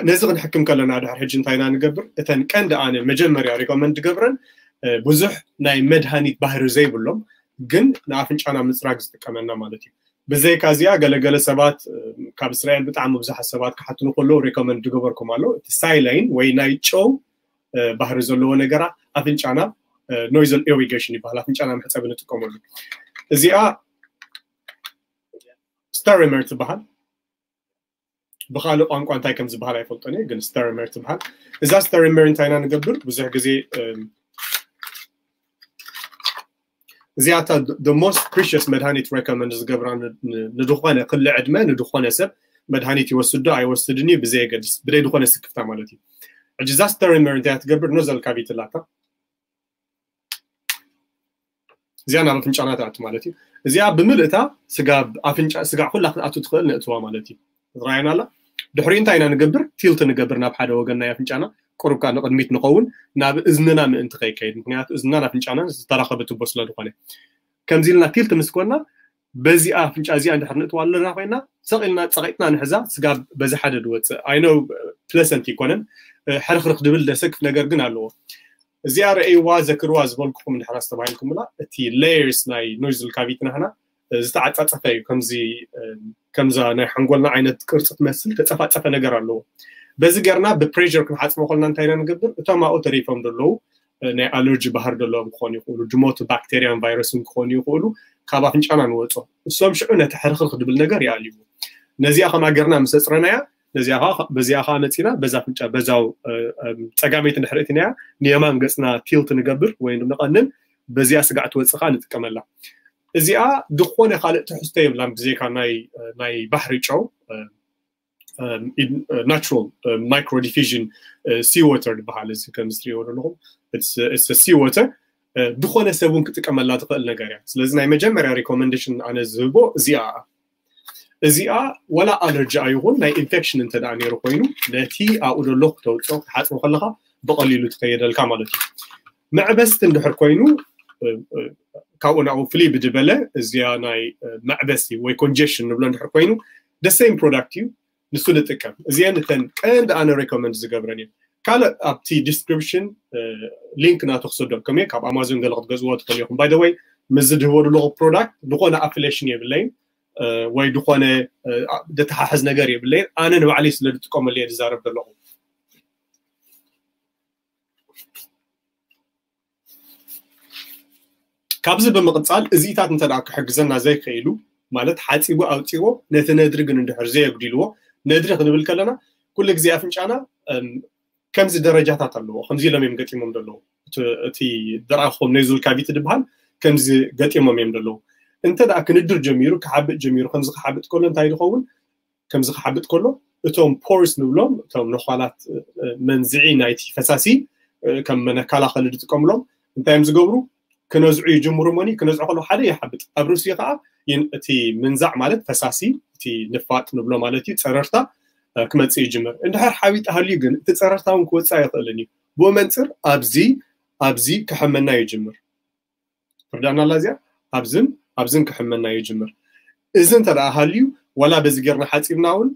ነዚ ክንሕክም ከለና ድሕር ሕጂ እንታይ ኢና ንገብር? እተን ቀንዲ ኣነ መጀመርያ ሪኮመንድ ገብረን ብዙሕ ናይ መድሃኒት ባህሪ ዘይብሎም ግን ንኣፍንጫና ምፅራግ ዝጥቀመና ማለት እዩ። ብዘይካ እዚኣ ገለገለ ሰባት ካብ እስራኤል ብጣዕሚ ብዙሓት ሰባት ክሓትኑ ከለዉ ሪኮመንድ ዝገበርኩም ኣሎ። እቲ ሳይላይን ወይ ናይ ጨው ባህሪ ዘለዎ ነገራ ኣፍንጫና ኖይዘል ኢሪጌሽን ይበሃል። ኣፍንጫና መሕፀቢ ንጥቀመሉ። እዚኣ ስተሪመር ትበሃል። ብካልእ ቋንቋ እንታይ ከም ዝበሃል ኣይፈልጦን እየ፣ ግን ስተሪመር ትበሃል። እዛ ስተሪመር እንታይ ኢና ንገብር? ብዙሕ ግዜ እዚኣታ the most precious መድሃኒት ሬኮመንድ ዝገብራ ንድኾነ ክሊ ዕድመ ንድኾነ ሰብ መድሃኒት ይወስድ ዶ ኣይወስድን እዩ ብዘየገድስ ብደይ ድኾነ ስክፍታ ማለት እዩ። ሕጂ እዛ ስተሪመር እንታይ ትገብር? ኖዘል ካቪቲ ኣላታ። እዚኣ ናብ ኣፍንጫና ትኣቱ ማለት እዩ። እዚኣ ብምልእታ ስጋ ኣፍንጫ ስጋ ኩላ ክትኣቱ ትኽእል ነእትዋ ማለት እዩ። ትረኣየና ኣላ። ድሕሪ እንታይ ኢና ንገብር? ቲልት ንገብር ናብ ሓደ ወገን ናይ ኣፍንጫና፣ ቁሩብ ከዓ ንቕድሚት ንኸውን፣ ናብ እዝንና ምእንቲ ከይከይድ። ምክንያቱ እዝንናን ኣፍንጫናን ዝተራኸበ ቱቦ ስለ ዝኾነ። ከምዚ ኢልና ቲልት ምስ ኮና በዚኣ ኣፍንጫ እዚኣ እንድሕር ንእትዋ ኣለና ኮይና ሰቕ ኢልና ጸቒጥና ንሕዛ ስጋ በዚ ሓደ ድወፅእ ኣይኖ ፕለሰንት ይኮነን ሕርክርክ ድብል ደሰክፍ ነገር ግን ኣለዎ። እዚኣ ረእይዋ ዘክርዋ ዝበልኩኹም እንድሕር ኣስተባሂልኩምላ እቲ ሌየርስ ናይ ኖይዝል ካቪቲ ናህና ዝተዓፃፀፈ እዩ። ከምዚ ከምዛ ናይ ሓንጎልና ዓይነት ቅርፂ ትመስል ተፀፋፀፈ ነገር ኣለዎ። በዚ ገርና ብፕሬር ክንሓፅቦ ከልና እንታይ ኢና ንገብር? እቶም ኣብኡ ተሪፎም ዘለዉ ናይ ኣለርጂ ባህር ዘለዎም ክኾኑ ይኽእሉ፣ ድሞቱ ባክቴርያን ቫይረስን ክኾኑ ይኽእሉ፣ ካብ ኣፍንጫና ንወፆ። እሶም ሽዑ ነቲ ሕርክርክ ድብል ነገር ይኣልይዎ። ነዚኣ ከምኣ ገርና ምስ ኣፅረናያ ነዚኣ ከዓ በዚኣ ከዓ መፂና በዛ ኣፍንጫ በዛው ፀጋመይቲ እንድሕር እትናያ ንየማን ገፅና ቲልት ንገብር ወይ ንቐንን በዚኣ ስጋዕ ትወፅእ ከዓ ንጥቀመላ። እዚኣ ዝኾነ ካልእ ትሕዝቶ የብላን ብዘይካ ናይ ባሕሪ ጨው ናቹራል ማይክሮ ዲፊዥን ሲ ወተር ዝበሃል እዚ ከም ዝትሪእዎ ዘለኹም ሲ ወተር ዝኾነ ሰብ እውን ክጥቀመላ ትኽእል ነገር እያ። ስለዚ ናይ መጀመርያ ሪኮመንዴሽን ኣነ ዝህቦ እዚኣ እዚኣ ወላ ኣለርጂ ኣይኹን ናይ ኢንፌክሽን እንተ ደኣ ነይሩ ኮይኑ ነቲ ኣብኡ ዘሎ ክተውፅኦ ክትሓፅቦ ከለካ ብቐሊሉ ትኸየደልካ ማለት እዩ። መዕበስቲ እንድሕር ኮይኑ ካብኡ ናብኡ ፍልይ ብድበለ እዚኣ ናይ መዕበስቲ ወይ ኮንጀሽን ንብሎ እንድሕር ኮይኑ ደሰይም ፕሮዳክት እዩ። ንሱ ንጥቀም። እዚአን እተን ቀንዲ ኣነ ሬኮመንድ ዝገብረን እየን። ካልእ ኣብቲ ዲስክሪፕሽን ሊንክ ናቱ ክሰደልኩም እየ። ካብ ኣማዞን ገለ ክትገዝዎ ትኽእሉ ኢኹም። ባይ ወይ ምስ ዝድህቦ ዘለኹ ፕሮዳክት ዝኾነ ኣፍሌሽን የብለይን ወይ ዝኾነ ደተሓሕዝ ነገር የብለይን። ኣነ ንባዕለይ ስለ ዝጥቀመሉ እየ ዝዛረብ ዘለኹ። ካብዚ ብምቕፃል እዚኢታት እንተ ክሕግዘና ዘይክኢሉ ማለት ሓፂቡ ኣውፂዎ ነቲ ነድሪ ግን እንድሕር ዘየጉዲልዎ ነድሪ ክንብል ከለና ኩሉ ግዜ ኣፍንጫና ከምዚ ደረጃታት ኣለዎ። ከምዚ ኢሎም እዮም ገጢሞም ዘለዉ። እቲ ዝረኣኹም ኔዙል ካቪቲ ዝበሃል ከምዚ ገጢሞም እዮም ዘለዉ። እንተ ደኣ ክንድር ጀሚሩ ክሓብጥ ጀሚሩ ከምዚ ክሓብጥ ከሎ እንታይ ዝኸውን ከምዚ ክሓብጥ ከሎ እቶም ፖርስ ንብሎም እቶም ነዃላት መንዝዒ ናይቲ ፈሳሲ ከም መነካላኸሊ ዝጥቀምሎም እንታይ እዮም ዝገብሩ? ክነዝዑ ይጅምሩ። መኒ ክነዝዑ ከሎ ሓደ ይሓብጥ ኣብ ርእሲ ከዓ እቲ ምንዛዕ ማለት ፈሳሲ እቲ ንፋጥ ንብሎ ማለት እዩ ጸረርታ ክመጽእ ይጅምር። እንድሕር ሓቢጥ ሃልዩ ግን እቲ ጸረርታ እውን ክወፅእ ኣይኽእልን እዩ። ብኡ መንፅር ኣብዚ ኣብዚ ክሕመና ይጅምር። ትርዳና ኣላ እዚኣ ኣብዝን ኣብዝን ክሕመና ይጅምር። እዚ እንተ ደኣ ሃልዩ ዋላ በዚ ጌርና ሓፂብና እውን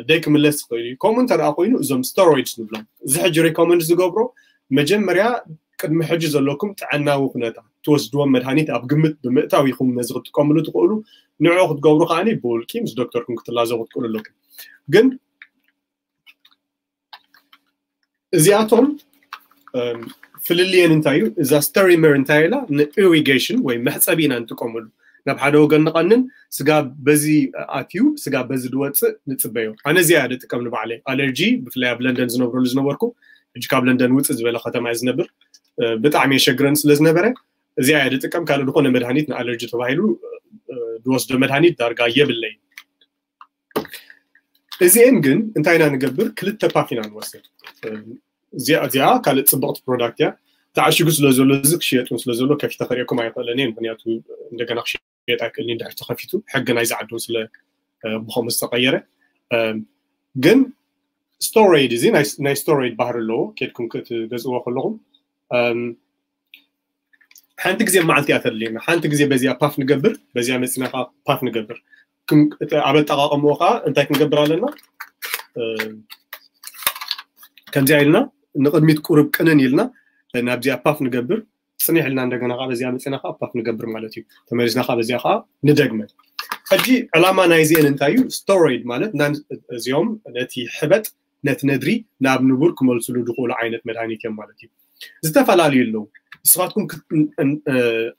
ደይ ክምለስ ይኽእል እዩ። ከምኡ እንተ ደኣ ኮይኑ እዞም ስቴሮይድስ ንብሎም እዚ ሕጂ ሪኮመንድ ዝገብሮ መጀመርያ ቅድሚ ሕጂ ዘለኩም ጥዕናዊ ኩነታት ትወስድዎም መድሃኒት ኣብ ግምት ብምእታው ኢኹም ነዚ ክትጥቀምሉ ትኽእሉ። ንዕኡ ክትገብሩ ከዓኒ ብውልቂ ምስ ዶክተርኩም ክትላዘቡ ክትክእሉ ኣለኩም። ግን እዚኣቶም ፍልልየን እንታይ እዩ? እዛ ስቴሪመር እንታይ ኢላ ንኢሪጌሽን ወይ መሕፀቢ ኢና ንጥቀመሉ። ናብ ሓደ ወገን ንቐንን ስጋ በዚ ኣትዩ ስጋ በዚ ዝወፅእ ንፅበዮ። ኣነ እዚኣ እየ ዝጥቀም ንባዕለይ። ኣለርጂ ብፍላይ ኣብ ለንደን ዝነብረሉ ዝነበርኩ ሕጂ ካብ ለንደን ውፅእ ዝበለ ከተማ እየ ዝነብር። ብጣዕሚ የሸግረን ስለ ዝነበረ እዚኣ እየ ዝጥቀም። ካልእ ዝኾነ መድሃኒት ንኣለርጂ ተባሂሉ ዝወስዶ መድሃኒት ዳርጋ የብለይ። እዚኤን ግን እንታይ ኢና ንገብር? ክልተ ፓፍ ኢና ንወስድ። እዚኣ እዚኣ ካልእ ፅብቕቲ ፕሮዳክት እያ። ተዓሽጉ ስለ ዘሎ እዚ ክሽየጥ እውን ስለ ዘሎ ከፊተ ከርእየኩም ኣይኽእልን እየ። ምክንያቱ እንደገና ክሽየጥ ኣይክእልን እዩ። እንድሕር ተኸፊቱ ሕጊ ናይዚ ዓዲ እውን ስለ ብኸምኡ ዝተቐየረ ግን ስቶሮይድ እዚ ናይ ስቶሮይድ ባህሪ ኣለዎ። ኬድኩም ክትገዝእዎ ከለኹም ሓንቲ ግዜ መዓልቲ እያ ተድልየና። ሓንቲ ግዜ በዚኣ ፓፍ ንገብር፣ በዚኣ መፂና ከዓ ፓፍ ንገብር። ኣብ ኣጠቃቀምኡ ከዓ እንታይ ክንገብር ኣለና? ከምዚኣ ኢልና ንቕድሚት ቁሩብ ቅንን ኢልና ናብዚኣ ፓፍ ንገብር። ጽኒሕ ኢልና እንደገና ከዓ በዚኣ መፅና ከዓ ፓፍ ንገብር ማለት እዩ። ተመሊስና ከዓ በዚኣ ከዓ ንደግመ። ሕጂ ዕላማ ናይዚአን እንታይ እዩ? ስቴሮይድ ማለት እዚኦም ነቲ ሕበጥ ነቲ ነድሪ ናብ ንቡር ክመልስሉ ዝኽእሉ ዓይነት መድሃኒት እዮም ማለት እዩ። ዝተፈላለዩ ኣለዉ። ንስኻትኩም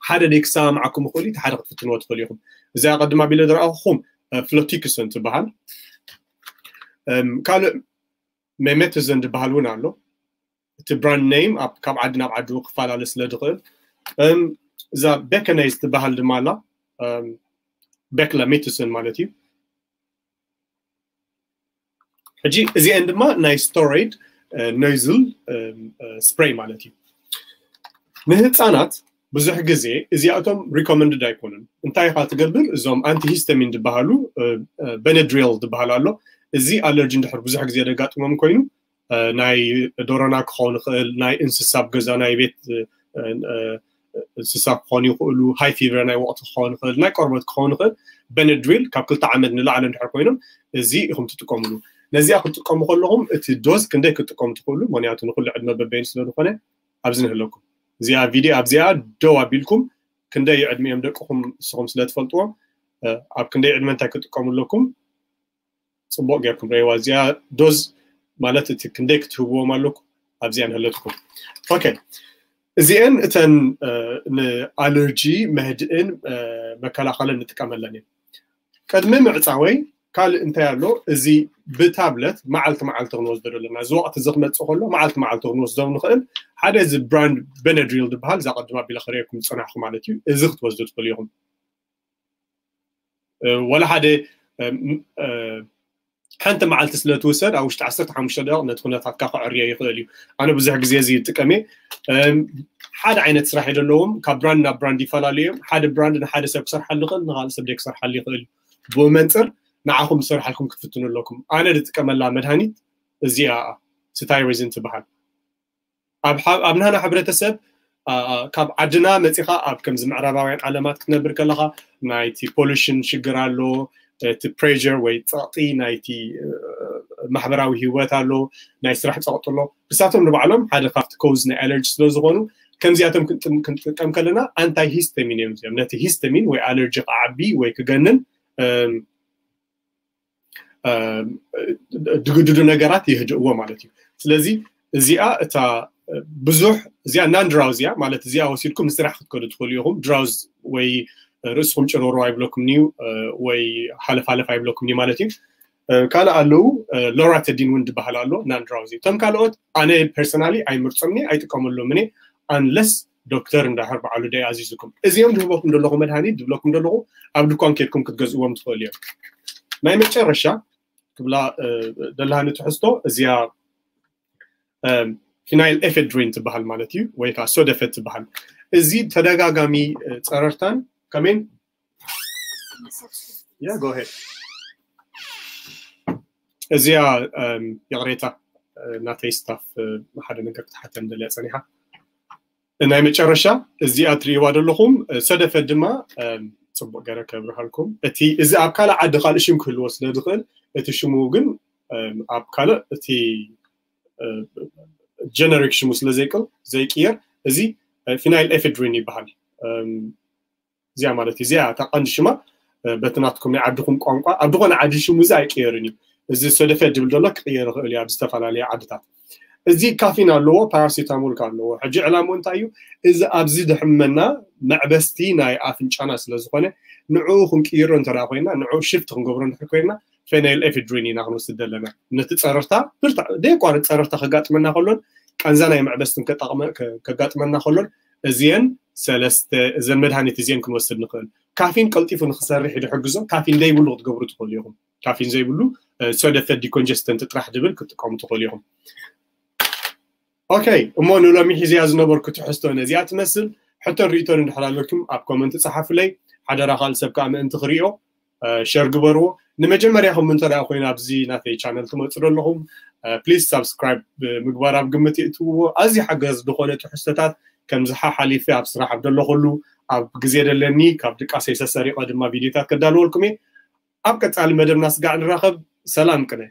ሓደ ደይ ክሰማምዓኩም ይኽእል እዩ፣ ሓደ ክትፍትንዎ ትኽእሉ ኢኹም። እዚኣ ቀድማ ቢለ ዝረኣኹኹም ፍሎቲክሰን ትበሃል። ካልእ ሜሜትዘን ዝበሃል እውን ኣሎ። እቲ ብራንድ ኔም ካብ ዓዲ ናብ ዓዲ ክፈላለ ስለ ዝኽእል፣ እዛ ቤከነይዝ ትበሃል ድማ ኣላ። ቤክላ ሜትስን ማለት እዩ። ሕጂ እዚአን ድማ ናይ ስቴሮይድ ኖዝል ስፕሬይ ማለት እዩ። ንህፃናት ብዙሕ ግዜ እዚኣቶም ሪኮመንድድ ኣይኮኑን። እንታይ ኢኻ ትገብር? እዞም ኣንቲሂስተሚን ዝበሃሉ፣ በነድሪል ዝበሃል ኣሎ። እዚ ኣለርጂ እንድሕር ብዙሕ ግዜ ደጋጥሞም ኮይኑ ናይ ዶሮና ክኸውን ይኽእል፣ ናይ እንስሳ ኣብ ገዛ ናይ ቤት እንስሳ ክኾኑ ይኽእሉ፣ ሃይ ፊቨር ናይ ወቕቲ ክኸውን ይኽእል፣ ናይ ቆርበት ክኸውን ይኽእል። በነድሪል ካብ ክልተ ዓመት ንላዕሊ እንድሕር ኮይኖም እዚ ኢኹም ትጥቀምሉ። ነዚኣ ክትጥቀሙ ከለኹም እቲ ዶዝ ክንደይ ክትጥቀሙ ትኽእሉ፣ ምክንያቱ ንኩሉ ዕድመ በበይኑ ስለ ዝኾነ ኣብዚ ንህለኩም። እዚኣ ቪድዮ ኣብዚኣ ደው ኣቢልኩም ክንደይ ዕድሚኦም ደቅኹም ንስኹም ስለ ትፈልጥዎም ኣብ ክንደይ ዕድመ እንታይ ክትጥቀሙ ኣለኩም ጽቡቕ ጌርኩም ረእይዋ። እዚኣ ዶዝ ማለት እቲ ክንደይ ክትህብዎም ኣለኩም ኣብዚኣ ንህለትኩም። ኦኬ፣ እዚአን እተን ንኣለርጂ መህድእን መከላኸልን ንጥቀመለን እየን። ቅድሚ ምዕፃወይ ካልእ እንታይ ኣሎ? እዚ ብታብለት መዓልቲ መዓልቲ ክንወስዶ ዘለና፣ እዚ ወቕቲ እዚ ክመፅእ ከሎ መዓልቲ መዓልቲ ክንወስዶ ንኽእል ሓደ እዚ ብራንድ በነድሪል ዝበሃል እዛ ቅድም ኣቢለ ክርእየኩም ዝፀናሕኩ ማለት እዩ። እዚ ክትወስዱ ትኽእሉ ኢኹም። ወላ ሓደ ሓንቲ መዓልቲ ስለ ትውሰድ ኣብ ውሽጢ ዓሰርተ ሓሙሽተ ደቂቕ ነቲ ኩነታትካ ክዕርዮ ይኽእል እዩ። ኣነ ብዙሕ ግዜ እዚ ይጥቀም እየ። ሓደ ዓይነት ስራሕ እዩ ዘለዎም፣ ካብ ብራንድ ናብ ብራንድ ይፈላለዩ እዮም። ሓደ ብራንድ ንሓደ ሰብ ክሰርሓሉ ይኽእል፣ ንካልእ ሰብ ደይ ክሰርሓሉ ይኽእል እዩ። ብኡ መንፅር ንዓኹም ዝሰርሓልኩም ክትፍትኑ ኣለኩም። ኣነ ዝጥቀመላ መድሃኒት እዚኣ ስታይሪዝን ትበሃል። ኣብ ናህና ሕብረተሰብ ካብ ዓድና መፂኻ ኣብ ከምዚ ምዕራባውያን ዓለማት ክትነብር ከለኻ ናይቲ ፖሉሽን ሽግር ኣሎ፣ እቲ ፕሬር ወይ ፀቕጢ ናይቲ ማሕበራዊ ህይወት ኣሎ፣ ናይ ስራሕ ፀቕጢ ኣሎ። ንሳቶም ንባዕሎም ሓደ ካብቲ ኮዝ ናይ ኣለርጂ ስለ ዝኾኑ ከምዚኣቶም ክንጥቀም ከለና ኣንታይ ሂስተሚን እዮም እዚኦም። ነቲ ሂስተሚን ወይ ኣለርጂ ክዓቢ ወይ ክገንን ድግድዱ ነገራት ይህድእዎ ማለት እዩ። ስለዚ እዚኣ እታ ብዙሕ እዚኣ ናን ድራውዚ እያ ማለት እዚኣ ወሲድኩም ንስራሕ ክትከዱ ትኽእሉ ኢኹም። ድራውዝ ወይ ርእስኹም ጭሮሮ ኣይብለኩም እዩ ወይ ሓለፍ ሓለፍ ኣይብለኩም እዩ ማለት እዩ። ካልእ ኣለዉ ሎራተዲን እውን ዝበሃል ኣሎ ናን ድራውዚ። እቶም ካልኦት ኣነ ፐርሰናሊ ኣይምርፆምኒ ኣይጥቀመሎም እኔ ኣንለስ ዶክተር እንዳሕር በዓሉ ደይ ኣዚዝኩም እዚኦም ዝህበኩም ዘለኹ መድሃኒት ዝብለኩም ዘለኹ ኣብ ድኳን ኬድኩም ክትገዝእዎም ትኽእሉ እዮም። ናይ መጨረሻ ክብላ ደላሃኒ ትሕዝቶ እዚኣ ፊናይል ኤፌድሪን ትበሃል ማለት እዩ ወይ ከዓ ሶደፈት ትበሃል። እዚ ተደጋጋሚ ፀረርታን ከመን እዚኣ ይቕሬታ ናተይ ስታፍ ሓደ ነገር ክትሓተን ደልያ ፀኒሓ። ናይ መጨረሻ እዚኣ ትርእይዋ ዘለኹም ሰደፈ ድማ ፅቡቅ ገረ ከብርሃልኩም። እቲ እዚ ኣብ ካልእ ዓዲ ካልእ ሽም ክህልዎ ስለ ዝኽእል እቲ ሽሙ ግን ኣብ ካልእ እቲ ጀነሪክ ሽሙ ስለ ዘይቅል ዘይቅየር እዚ ፊናይል ኤፌድሪን ይበሃል። እዚኣ ማለት እዩ እዚኣ እታ ቀንዲ ሽማ በቲ ናትኩም ናይ ዓድኹም ቋንቋ ኣብ ዝኾነ ዓዲ ሽሙ እዚ ኣይቅየርን እዩ። እዚ ሰደፈ ድብል ዘሎ ክቅየር ይኽእል እዩ ኣብ ዝተፈላለየ ዓድታት። እዚ ካፊን ኣለዎ ፓራሲታሞል ኣለዎ። ሕጂ ዕላምኡ እንታይ እዩ? እዚ ኣብዚ ድሕመና መዕበስቲ ናይ ኣፍንጫና ስለ ዝኾነ ንዕኡ ክንቅይሮ እንተ ኮይና ንዕኡ ሽፍት ክንገብሮ እንድሕር ኮይና ፌናይል ኤፊድሪን ኢና ክንወስድ ዘለና። ነቲ ፀረርታ ብርታ ደየቋርጥ ፀረርታ ከጋጥመና ከሎን ቃንዛ ናይ መዕበስትን ከጋጥመና ከሎን እዚየን ሰለስተ እዘን መድሃኒት እዚየን ክንወስድ ንኽእል። ካፊን ቀልጢፉ ንክሰርሕ ዝሕግዞ ካፊን ዘይብሉ ክትገብሩ ትኽእሉ ኢኹም። ካፊን ዘይብሉ ሶደፈ ዲኮንጀስተንት ጥራሕ ድብል ክትጥቀሙ ትኽእሉ ኢኹም። ኦኬ፣ እሞ ንሎሚ ሒዝያ ዝነበርኩ ትሕዝቶ ነዚኣ ትመስል። ሕቶን ርእቶን እንድሕር ኣለኩም ኣብ ኮመንት ጸሓፉለይ። ሓደራ ካልእ ሰብ ከዓ ምእንቲ ክሪኦ ሸር ግበርዎ። ንመጀመርያኹም እንተ ደኣ ኮይኑ ኣብዚ ናተይ ቻነል ትመፁ ዘለኹም ፕሊዝ ሳብስክራይብ ምግባር ኣብ ግምት የእትውዎ። ኣዝዩ ሓገዝ ዝኾነ ትሕዝቶታት ከምዚ ሓሓሊፈ ኣብ ስራሕ ኣብ ዘለኹሉ ኣብ ግዜ ደለኒ ካብ ድቃሰይ ሰሰሪቐ ድማ ቪድዮታት ከዳልወልኩም እየ። ኣብ ቀጻሊ መደብና ስጋዕ ንራኸብ። ሰላም ቅነ።